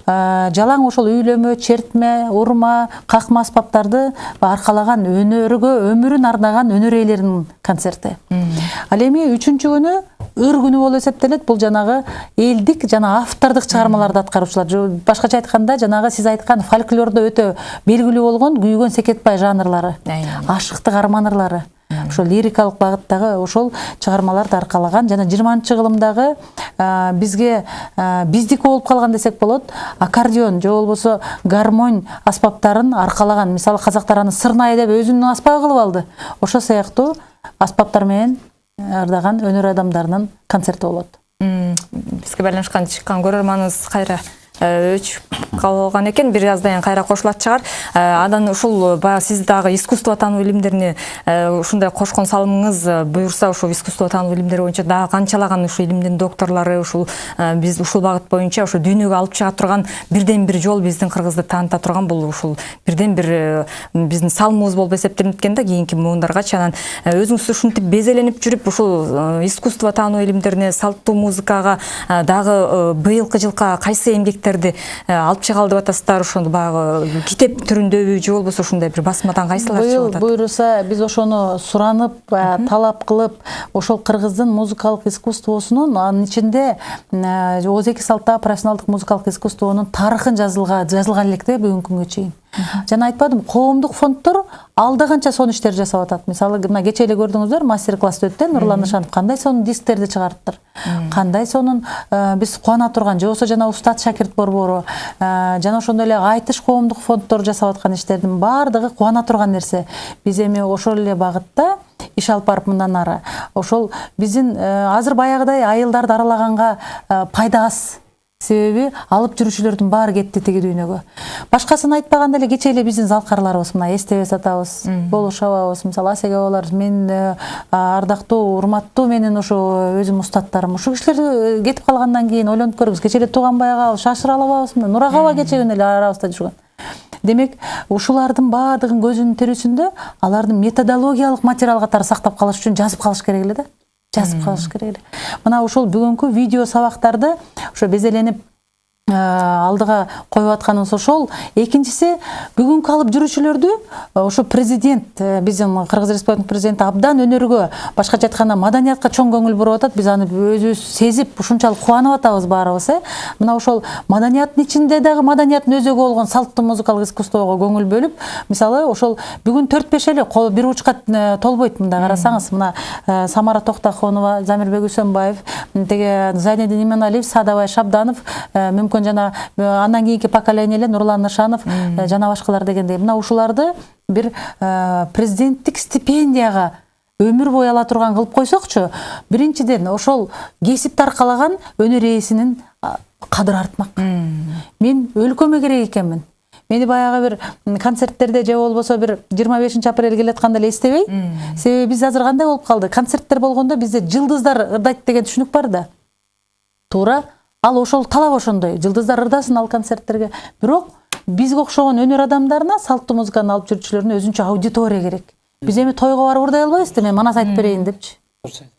жалаң ошол үйлөмө, чертме, урма, какма аспаптарды аркалаган өнөргө өмүрүн ардаган өнөр ээлеринин концерти. Ал эми үчүнчү күнү ыр күнү болуп эсептелет. Бул жанагы элдик жана автордук чыгармаларды аткаруучулар. Башкача айтканда, жанагы сиз айткан фольклордо өтө белгилүү болгон күйгөн секетбай жанрлары, ашыктык арман ырлары, ошол лирикалык багыттагы ошол чыгармаларды аркалаган жана жыйырманчы кылымдагы бизге биздики болуп калган десек болот, аккордеон же болбосо гармонь аспаптарын аркалаган. Мисалы казактар аны сырнай деп өзүнүн аспабы кылып алды. Ошол сыяктуу аспаптар менен ардаган өнөр адамдарынын концерти болот. Бизге байланышкан чыккан көрөрманыбыз кайра өчүп калган экен, бир аздан кийин кайра кошулат чыгар. Анан ушул баягы сиз дагы искусство тануу илимдерине ушундай кошкон салымыңыз буюрса, ушул искусство тануу илимдери боюнча дагы канчалаган ушул илимдин докторлору ушул биз ушул багыт боюнча ушул дүйнөгө алып чыга турган бирден бир жол, биздин Кыргызды тааныта турган бул ушул бирден бир биздин салымыбыз болуп эсептелинет экен да кийинки муундаргачы. Анан өзүңүз ушинтип безеленип жүрүп ушул искусство тануу илимдерине, салттуу музыкага дагы быйылкы жылка кайсы эмгектер алып чыгалды деп атасыздар? Ошону баягы китеп түрүндөбү же болбосо ушундай бир басмадан кайсылар чыгып атат? Буюрса биз ошону суранып, талап кылып, ошол кыргыздын музыкалык искусствосунун, анын ичинде Оз эки салттагы профессионалдык музыкалык искусствонун тарыхын жазылган жазылган элек да бүгүнкү күнгө чейин. Жана айтпадым, коомдук фонддор алда канча сонун иштер жасап атат. Мисалы, мына кечээ эле көрдүңүздөр, мастер-класс өттү, Нурлан Нышанов кандай сонун дисктерди чыгарыптыр. Кандай сонун биз кубана турган, же болбосо жана Устат Шакирт Борбору, жана ошондой эле Айтыш коомдук фонддор жасап аткан иштердин баардыгы кубана турган нерсе. Биз эми ошол эле багытта иш алып барып мындан ары ошол биздин азыр баягыдай айылдарды аралаганга пайда аз. Себеби алып жүрүүчүлөрдүн баары кетти тиги дүйнөгө. Башкасын айтпаганда эле кечээ эле биздин залкарларыбыз, мына Эстебес атабыз, Болуш абабыз, мисалы Асеге абалар, мен ардактуу, урматтуу менин ошо өзүм устаттарым. Ушул кишилер кетип калгандан кийин ойлонуп көрүңүз, кечээ эле Тууганбай ага, Шашыр алабыз, Нурага аба кечээ күнү эле арабызда жүргөн. Демек, ушулардын баардыгын көзүнүн тирүүсүндө алардын методологиялык материал катары сактап калыш үчүн жазып калыш керек эле да. Жазып калыш керек эле. Мына ушул бүгүнкү видео сабактарды ошо безеленип алдыга коюп атканыбыз ошол. Экинчиси, бүгүнкү алып жүрүүчүлөрдү ошо президент, биздин Кыргыз Республикасынын президенти абдан өнөргө, башкача айтканда маданиятка чоң көңүл буруп атат. Биз аны өзүбүз сезип, ушунчалык кубанып атабыз баарыбыз, э. Мына ошол маданияттын ичинде дагы маданияттын өзөгү болгон салттуу музыкалык искусствого көңүл бөлүп, мисалы ошол бүгүн төрт беш эле бир учка толбойт. Мында карасаңыз, мына Самара Токтохонова, Замирбек Үсөнбаев, теге Зайнедин Иманалиев, Садабай Шабданов, мүмкүн жана андан кийинки поколениялер Нурлан Нышанов жана башкалар дегендей. Мына ушуларды бир президенттик стипендияга өмүр бою ала турган кылып койсокчу, биринчиден ошол кесипти аркалаган өнөр ээсинин кадыры артмак. Мен өлкөмө керек экенмин. Мени баягы бир концерттерде же болбосо бир жыйырма бешинчи апрель келатканда эле эстебей. Себеби биз азыр кандай болуп калды? Концерттер болгондо бизде жылдыздар ырдайт деген түшүнүк бар да. Туура. Ал ошол талап ошондой. Жылдыздар ырдасын ал концерттерге. Бирок бизге окшогон өнөр адамдарына, салттуу музыканы алып жүрүүчүлөрүнө өзүнчө аудитория керек. Биз эми тойго барып ырдай албайбыз да, мен манас айтып берейин депчи.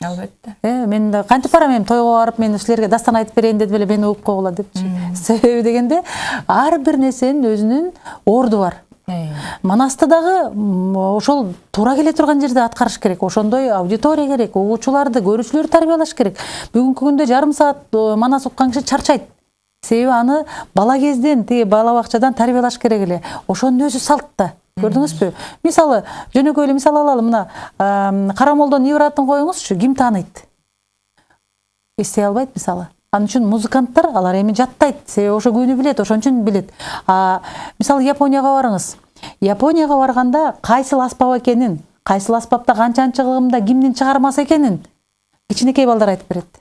Албетте. Э, мен кантип барам эми тойго барып, мен силерге дастан айтып берейин деп эле мени угуп койгула депчи. Себеби дегенде ар бир нерсенин өзүнүн орду бар. Манасты дагы ошол туура келе турган жерде аткарыш керек. Ошондой аудитория керек, угуучуларды, көрүүчүлөрдү тарбиялаш керек. Бүгүнкү күндө жарым саат манас уккан киши чарчайт. Себеби аны бала кезден, тиги бала бакчадан тарбиялаш керек эле. Ошонун өзү салт да. Көрдүңүзбү? Мисалы, жөнөкөй эле мисал алалы, мына Карамолдон Ибратын коюңузчу, ким тааныйт? Эстей албайт мисалы. Анын үчүн музыканттар алар эми жаттайт, себеби ошо күнү билет, ошон үчүн билет. А мисалы Японияга барыңыз. Японияга барганда кайсыл аспап экенин, кайсыл аспапта канчанчы кылымда кимдин чыгармасы экенин кичинекей балдар айтып берет.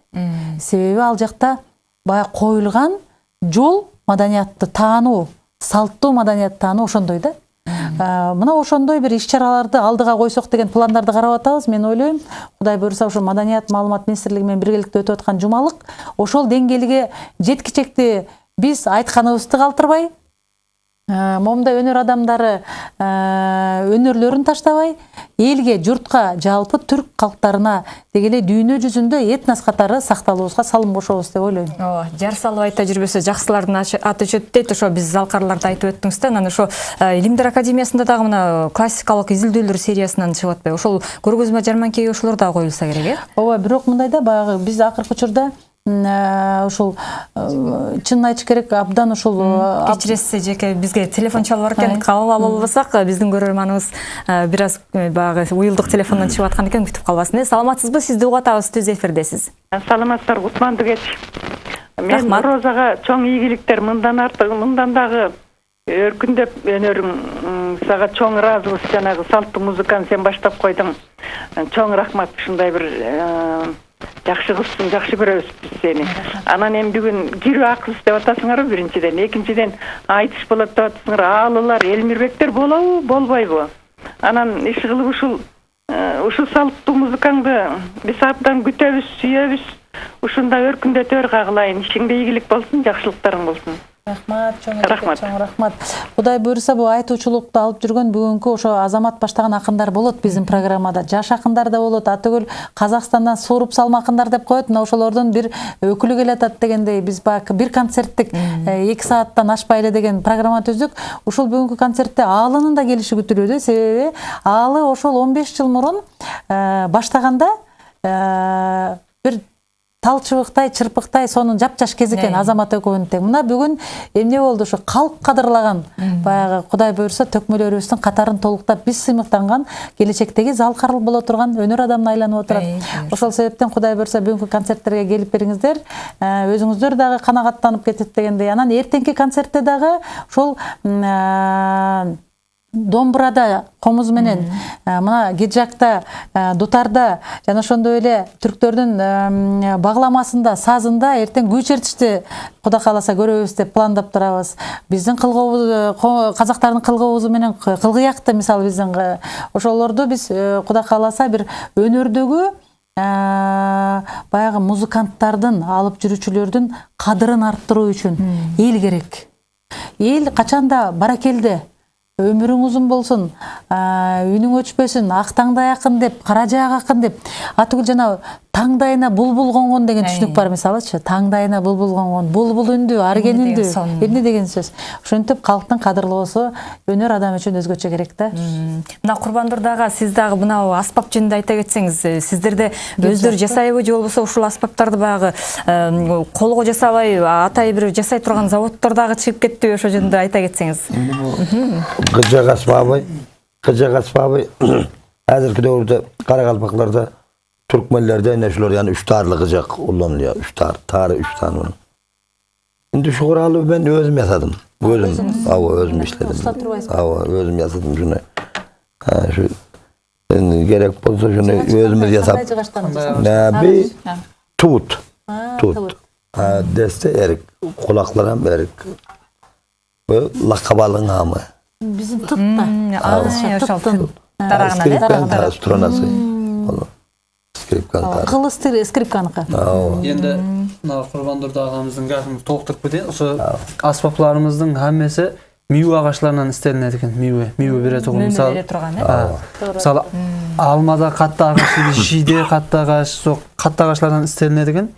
Себеби ал жакта бая коюлган жол маданиятты таануу, салттуу маданиятты таануу ошондой да. Мына ошондой бир иш-чараларды алдыга койсок деген пландарды карап атабыз. Мен ойлойм, Кудай буйрса ошо Маданият маалымат министрлиги менен биргеликте өтүп аткан жумалык ошол деңгээлге жеткичекти биз айтканыбызды калтырбай, момундай өнөр адамдары өнөрлөрүн таштабай, элге, журтка, жалпы түрк калктарына дегеле дүйнө жүзүндө этнос катары сакталуубузга салым кошобуз деп ойлойм. Ооба, жар салып айта жүрбөсө жакшылардын аты өчөт дейт. Ошо биз залкарларда айтып өттүңүз да. Анан ошо Илимдер академиясында дагы мына классикалык изилдөөлөр сериясынан чыгып атпайбы? Ошол көргөзмө жарманкеге ошолор дагы коюлса керек, э? Ооба, бирок мындай да, баягы биз акыркы учурда ошол чынын айтыш керек, абдан ошол кечиресиз жеке бизге телефон чалып бар экен, кабыл ала албасак биздин көрөрманыбыз бир аз баягы уюлдук телефондон чыгып аткан экен, күтүп калбасын. Саламатсызбы? Сизди угатабыз, түз эфирдесиз. Саламаттар, кутмандуу кеч. Мен Розага чоң ийгиликтер, мындан артык, мындан дагы өркүндөп өнөрүң, сага чоң ыраазыбыз. Жанагы салттуу музыканы сен баштап койдуң. Чоң рахмат, ушундай бир жакшы кызсың, жакшы көрөбүз биз сени. Анан эми бүгүн кирүү акыс деп атасыңарбы биринчиден, экинчиден айтыш болот деп атасыңар. Аалылар, Элмирбектер болобу, болбойбу? Анан иш кылып ушул ушул салттуу музыкаңды биз абдан күтөбүз, сүйөбүз. Ушундай өркүндөтөр кагылайын. Ишиңде ийгилик болсун, жакшылыктарың болсун. Рахмат, чоң рахмат. Чоң рахмат. Кудай буйруса бу айтуучулукту алып жүргөн бүгүнкү ошо Азамат баштаган акындар болот биздин программада. Жаш акындар да болот. Атөгүл Казакстандан сууруп салма акындар деп коет. Мына ошолордун бир өкүлү келатат дегендей, биз бак бир концерттик эки сааттан ашпай эле деген программа түздүк. Ушул бүгүнкү концертте Аалынын да келиши күтүлүүдө. Себеби Аалы ошол он беш жыл мурун баштаганда бир талчыбыктай, чырпыктай сонун жапжаш кез экен Азамат экөөбүн тең. Мына бүгүн эмне болду? Ошо калк кадырлаган баягы Кудай буйруса төкмөлөрүбүздүн катарын толуктап биз сыймыктанган келечектеги залкарыл боло турган өнөр адамына айланып отурат. Ошол себептен Кудай буйруса бүгүнкү концерттерге келип бериңиздер. Өзүңүздөр дагы канагаттанып кетет дегендей. Анан эртеңки концертте дагы ошол домбурада, комуз менен, мына гиджакта, дутарда, жана ошондой эле түрктөрдүн багламасында, сазында эртең күй чертишти Кудай кааласа көрөбүз деп пландап турабыз. Биздин кылгыбыз, казактардын кылгыбызы менен кылгыякты мисалы биздин ошолорду биз Кудай кааласа бир өнөрдөгү баягы музыканттардын, алып жүрүүчүлөрдүн кадырын арттыруу үчүн эл керек. Эл качанда баракелде, өмүрүң узун болсун, үнүң өчпөсүн, ак таңдай акын деп, кара жаак акын деп, атүгүл жана таңдайына булбул конгон деген түшүнүк бар мисалычы. Таңдайына булбул конгон, булбул үндү, арген үндү, эмне деген сөз. Ошентип калктын кадырлоосу өнөр адам үчүн өзгөчө керек да. Мына Курбандур дагы, сиз дагы мына аспап жөнүндө айта кетсеңиз, сиздерде өздөрү жасайбы же болбосо ушул аспаптарды баягы колго жасабай, атай бир жасай турган заводдор дагы чыгып кеттиби, ошол жөнүндө айта кетсеңиз. Кыжак аспабы, кыжак аспабы азыркы дöwürde Каракалпакларда, Türkmenlerde neşler yani üç tarlı kıcak kullanılıyor. Üç tar, tarı üç tane onun. Şimdi şu kuralı ben özüm yasadım. Özüm, ava özüm işledim. Ava özüm yasadım şunu. Ha şu yani gerek olsa şunu özümüz yasap. Ne bir tut, tut. Ha deste erik, kulaklara erik. Bu lakabalın hamı. Bizim tut da. Ağzı tuttun. Skripkan ta stronası. Кылыстыр скрипканыкы. Енді мына Курбандур агамыздын гапын толуктуруп кетейин. Ошо аспаптарыбыздын хаммасы миүү агачларынан истелинет экен. Миүү, миүү бере турган. Мисалы, мисалы алмада катты агаш, шийде катты агаш, со катты агачлардан истелинет экен.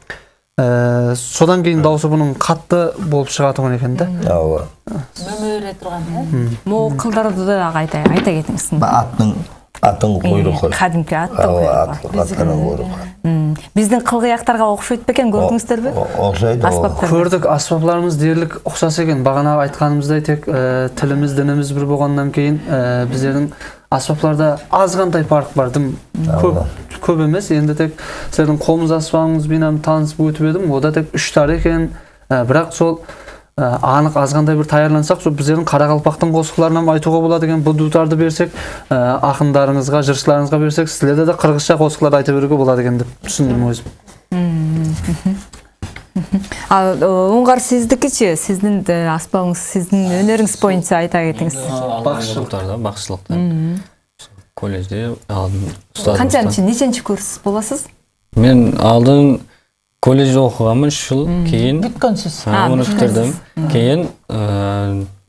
Содан кийин дагы бунун катты болуп чыга турган экен да. Ооба. Мөмөрө турган, э? Могу кылдарды да айта айта кетиңиз. Аттын атын куйругу. Кадимки аттын куйругу. Биздин кылгыяктарга окшойт бекен, көрдүңүздөрбү? Окшойт. Көрдүк, аспаптарыбыз дээрлик окшос экен. Багана айтканыбыздай тек тилimiz, динimiz бир болгондон кийин биздердин аспаптарда аз кандай парк бар. Көп көп эмес. Энди тек сиздердин комуз аспабыңыз менен таанышып өтүп едим. Ода тек үч тар экен. Бирок сол анык аз кандай бир даярлансак, биздердин Каракалпактын косукларынан айтууга болот экен. Бул дутарды берсек, акындарыңызга, жырчыларыңызга берсек, силерде да кыргызча косуклар айта берүүгө болот экен деп түшүндүм өзүм. Оңгар сиздикичи, сиздин аспабыңыз, сиздин өнөрүңүз боюнча айта кетиңиз. Бакчылыктарда, бакчылыкта. Колледжде алдым устазым. Канчанчы, неченчи курс боласыз? Мен алдын колледжде окуганмын үч жыл, кийин бүткөнсүз. Муну бүттүрдүм. Кийин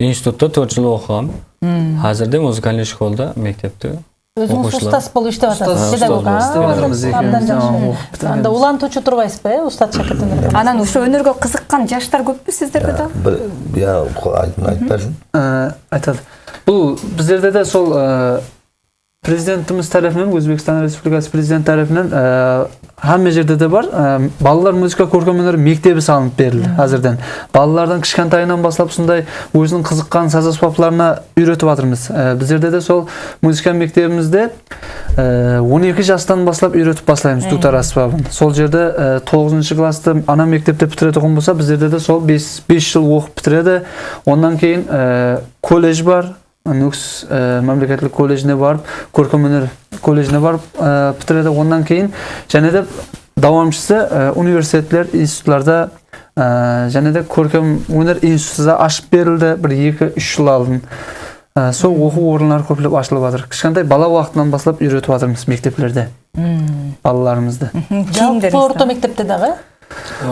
институтта төрт жыл окугам. Азырда музыкалдык школда, мектепте. Өзүңүз устаз болуп иштеп атасыз, педагог. Абдан жакшы. Анда улантуучу турбайсызбы, э, устат шакирттин? Анан ушу өнөргө кызыккан жаштар көппү сиздерде да? Я айтып берсин. Айтат. Бул биздерде да сол президентimiz тарапынан, Өзбекстан Республикасы президент тарапынан хамма жерде да бар. Балалар музыка көркөм өнөр мектеби салынып берилди азырдан. Балалардан кичкентайынан башлап ушундай өзүнүн кызыккан саз аспаптарына үйрөтүп атырбыз. Биздерде да сол музыка мектебимизде он эки жаштан башлап үйрөтүп башлайбыз дутар аспабын. Сол жерде тогузунчу классты ана мектепте бүтүрө турган болсо, биздерде да сол беш жыл окуп бүтүрөдү. Ондан кийин колледж бар. Нүкс мамлекеттик колледжине барып, көркөм өнөр колледжине барып бүтүрөдү. Ондан кийин және де дawamчысы университетлер, институтларда және де көркөм өнөр институтуда ашып берилди. бир эки үч жыл алдын. Сол окуу орунлары көплөп ачылып атыр. Кичкентай бала убактынан башлап үйрөтүп атырбыз мектеплерде. Балаларыбызды. Жалпы орто мектепте дагы?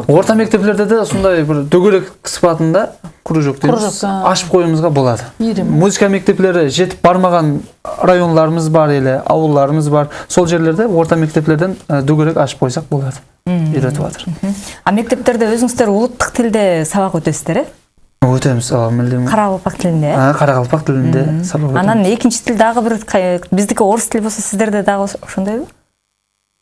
Орта мектеплерде де сондай бир дөңгөлөк сыпатында кружок дейбиз, ашып коюубузга болот. Музыка мектеплери жетип бармаган районларыбыз бар эле, ауылдарыбыз бар. Сол жерлерде орта мектеплерден дөңгөлөк ашып койсак болот. Үйрөтүп атыр. А мектептерде өзүңүздөр улуттук тилде сабак өтөсүздөр, э? Өтөбүз, милдим. Каракалпак тилинде, э? Каракалпак тилинде сабак өтөбүз. Анан экинчи тил дагы бир биздики орус тили болсо, сиздерде дагы ошондойбу?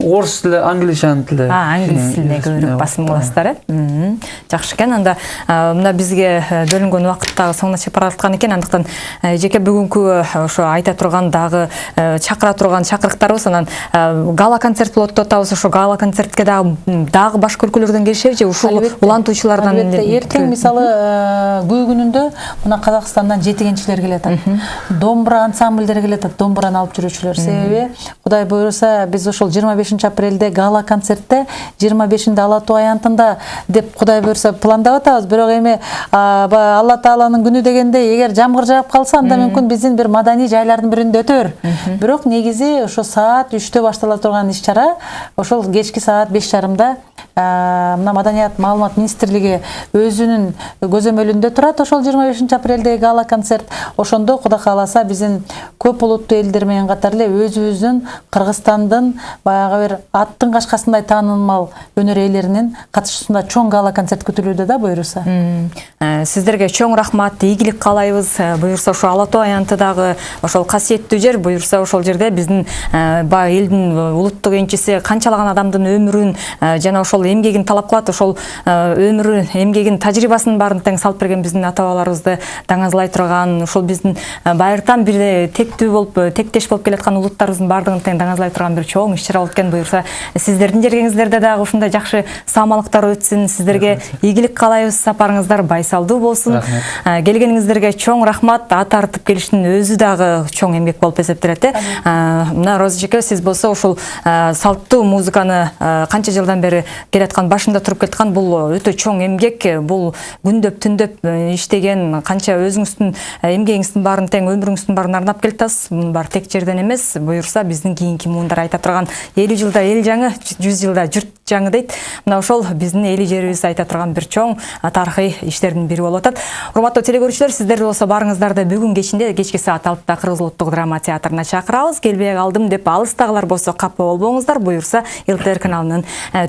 Орыс тили, англишан тили. А, англис тилине көбүрөөк басым кыласыздар, э? Жакшы экен. Анда мына бизге бөлүнгөн убакыт дагы соңуна чыгып бараткан экен. Андыктан жеке бүгүнкү ошо айта турган дагы чакыра турган чакырыктарыбыз, анан гала концерт болот деп атабыз. Ошо гала концертке дагы дагы башка өлкөлөрдөн келишеби же ушул улантуучулардан? Албетте, эртең мисалы күй күнүндө мына Казакстандан жетигенчилер келе атат. Домбура ансамбльдери келе атат, домбураны алып жүрүүчүлөр. Себеби Кудай буйруса биз ошол жыйырма бешинчи апрелде гала концертте жыйырма бешинде Ала Тоо аянтында деп Кудай буйруса пландап атабыз. Бирок эми Алла Тааланын күнү дегенде эгер жамгыр жаап калса, анда мүмкүн биздин бир маданий жайлардын биринде өтөр. Бирок негизи ошо саат үчтө баштала турган иш-чара ошол кечки саат беш жарымда мына Маданият маалымат министрлиги өзүнүн көзөмөлүндө турат. Ошол жыйырма бешинчи апрелдеги гала концерт. Ошондо Кудай кааласа биздин көп улуттуу элдер менен катар эле өзүбүздүн Кыргызстандын баягы бир аттын кашкасындай таанымал өнөр ээлеринин катышуусунда чоң гала концерт күтүлүүдө да буйруса. Сиздерге чоң рахмат, ийгилик каалайбыз. Буйруса ошо Ала Тоо аянты дагы ошол касиеттүү жер. Буйруса ошол жерде биздин баягы элдин улуттук энчиси канчалаган адамдын өмүрүн жана ошол эмгегин талап кылат. Ошол өмүрү, эмгегин, тажрыйбасын баарын тең салып берген биздин ата-бабаларыбызды даңазлай турган, ошол биздин байыртан бир тектүү болуп, тектеш болуп келаткан улуттарыбыздын баардыгын тең даңазлай турган бир чоң иш-чара болуп экен. Буйруса сиздердин жергеңиздерде дагы ушундай жакшы саамалыктар өтсүн. Сиздерге ийгилик каалайбыз, сапарыңыздар байсалдуу болсун. Келгениңиздерге чоң рахмат. Ат артып келиштин өзү дагы чоң эмгек болуп эсептелет, э? Мына Роза эжеке, сиз болсо ушул салттуу музыканы канча жылдан бери келаткан, башында туруп келаткан, бул өтө чоң эмгек. Бул күндөп түндөп иштеген, канча өзүңүздүн эмгегиңиздин баарын тең өмүрүңүздүн баарын арнап келатасыз. Мунун баары тек жерден эмес. Буйруса биздин кийинки муундар айта турган элүү жылда эл жаңы, жүз жылда журт жаңы дейт. Мына ошол биздин эли жерибиз айта турган бир чоң тарыхый иштердин бири болуп атат. Урматтуу телекөрүүчүлөр, сиздер болсо барыңыздарды бүгүн кечинде кечки саат алтыда Кыргыз улуттук драма театрына чакырабыз. Келбей калдым деп алыстагылар болсо капа болбоңуздар. Буюрса ЛТР каналынын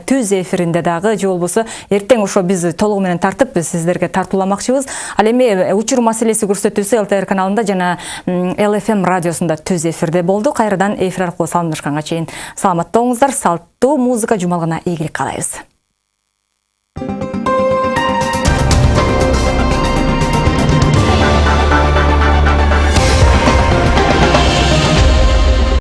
түз эфиринде дагы же болбосо эртең ошо биз толугу менен тартып сиздерге тартууламакчыбыз. Ал эми учур маселеси көрсөтүүсү ЛТР каналында жана Эл Эф Эм радиосунда түз эфирде болду. Кайрадан эфир аркылуу саламдашканга чейин саламатта болуңуздар. Салттуу музыка жумалгына ийгилик каалайбыз.